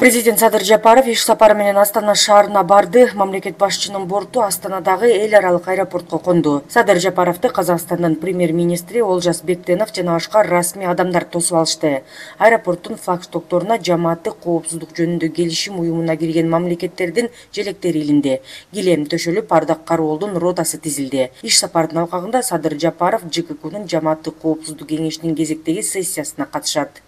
Президент Садыр Жапаров иш сапары менен Астана шаарына барды. Мамлекет башчынын борту Астанадагы эл аралык аэропортко конду. Садыр Жапаровду Казакстандын премьер-министри Олжас Бектенов жана башка расмий адамдар тосуп алышты. Аэропорттун флагштокторуна жамааттык коопсуздук жөнүндө келишим уюмуна кирген мамлекеттердин желектери илинди. Килем төшөлүп, Ардак Кароолдун ротасы тизилди. Иш сапардын алкагында Садыр Жапаров ЖККнын жамааттык коопсуздук кеңешинин кезектеги сессиясына катышат.